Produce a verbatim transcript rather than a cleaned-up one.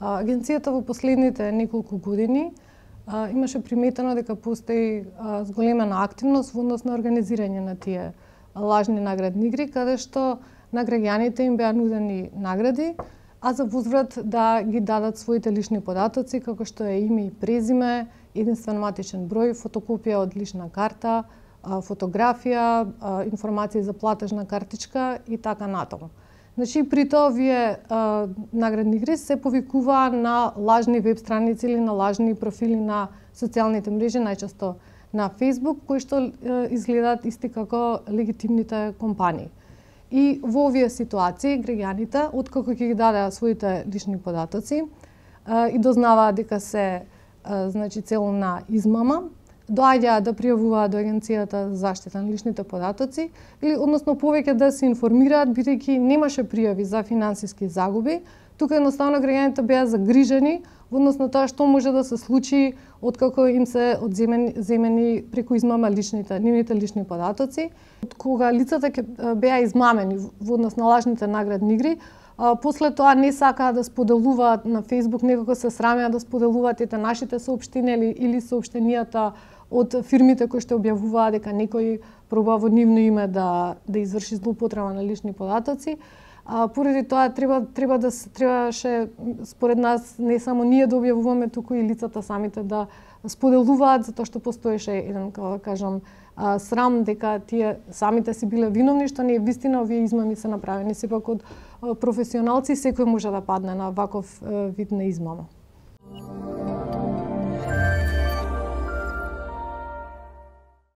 Агенцијата во последните неколку години а, имаше приметено дека постои а, зголемена активност во однос на организирање на тие лажни наградни игри, каде што на граѓаните им беа нудени награди, а за возврат да ги дадат своите лични податоци, како што е име и презиме, единствен матичен број, фотокопија од лична карта, фотографија, информации за платежна картичка и така натаму. Значи, при тоа овие а, наградни игри се повикува на лажни веб страници или на лажни профили на социјалните мрежи, најчесто на Facebook, кои што а, изгледаат исти како легитимните компании. И во овие ситуации граѓаните, откако ќе ги даде своите лични податоци а, и дознаваат дека се а, значи цел на измама, доаѓаат да пријавуваат до Агенцијата за заштита на личните податоци или односно повеќе да се информираат, бидејќи немаше пријави за финансиски загуби. Тука едноставно граѓаните беа загрижени во однос на тоа што може да се случи откако им се одземени земени преку измама личните, нивните лични податоци. Кога лицата ќе беа измамени во однос на лажните наградни игри, а, после тоа не сакаа да споделуваат на Facebook, некако се срамеа да споделуваат ете нашите соопштенија или, или соопштенијата од фирмите кои што објавуваат дека некој проба во нивно име да да изврши злоупотреба на лични податоци. А поради тоа треба треба да требаше според нас не само ние да објавуваме, туку и лицата самите да споделуваат, затоа што постоеше еден, како да кажам, срам дека тие самите си биле виновни, што не е вистина овие измами се направени сепак од професионалци, секој може да падне на ваков вид на измама.